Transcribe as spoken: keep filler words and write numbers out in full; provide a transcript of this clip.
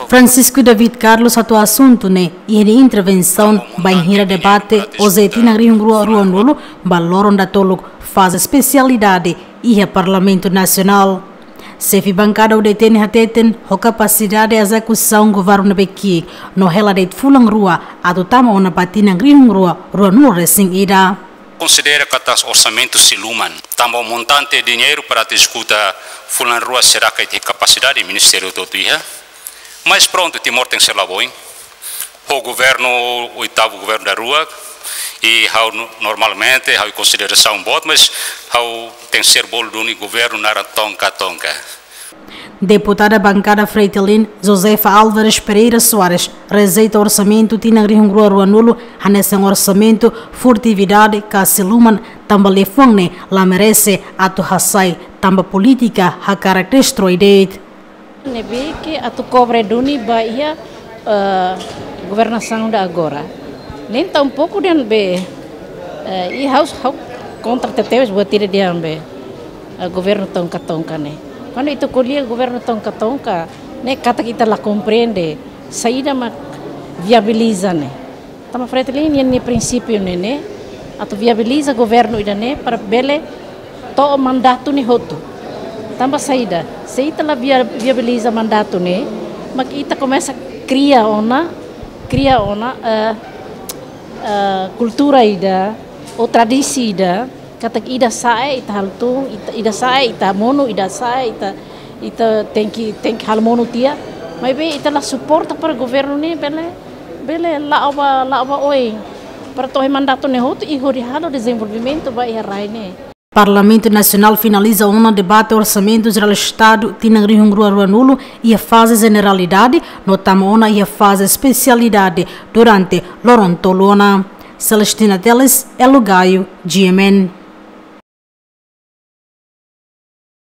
Francisco David Carlos hato'o asuntu ne'e iha nia intervensaun bainhira debate oze tinan rihun rua ruanulu ba loron datoluk faze espesialidade iha Parlamentu Nasionál. Xefe bankada U D T ne'e hateten ho kapasidade ezekusaun governu ne'ebé ki'ik no hela de'it fulan rua atu tama ona ba tinan rihun rua ruanulu resin ida. Konsidera katak orsamentu sei luman, tanba montante diñeiru para atu ezekuta fulan rua seidauk iha kapasidade ministériu hotu-hotu iha. Mas prontu, Timor tenke ser la boin. Ho governu, oitavu governu daruak, i ha'u no-, normalmente, ha'u konsiderasaun boot, mas ha'u tenke ser bolu duni governu naran tonka-tonka. Deputada bankada Fretilin, Josefa Álvares Pereira Soares, rejeita orsamentu tinan rihun rua ruanulu, hanesan orsamentu furtividade ka sei luman, tanba liafuan ne'e la merese atu hasai, tanba polítika hakarak destrói de'it. Ne'ebé ke atu kobre duni ba iha, eh, governasaun ida agora. Nem tampouco dehan be, eh, i ha'u, ha'u kontra tebes buat ida dehan be, eh, governu tonka-tonka ne'e. Kuandu ita ko'alia governu tonka-tonka ne'e katak ita la komprende saida mak viabiliza ne'e. Tanba Fretilin nia, nia prinsípiu ne'e ne'e, atu viabiliza governu ida-ne'e para bele to'o mandatu ne'e hotu. Tanba saida, se ita la via-, viabiliza mandatu ne'e, mak ita komesa kria ona, kria ona, eh, eh, kultura ida, ou tradisaun ida, katak ida sa'e ita halo tun, ita, ida sa'e ita monu, ida sa'e ita, ita tenke, tenke halo monu tiha. Maibé ita la suporta para governu ne'e bele, bele la'o ba, la'o ba oin. Para to'o mandatu ne'e hotu i hodi halo dezenvolvimentu ba iha rai ne'e. Parlamentu Nasionál finaliza ona debate Orsamentu Jerál Estadu tinan rihun rua ruanulu iha faze jeneralidade, no tama ona iha faze espesialidade durante loron tolu ona. Celestina Teles, Elo Gaio, G M N.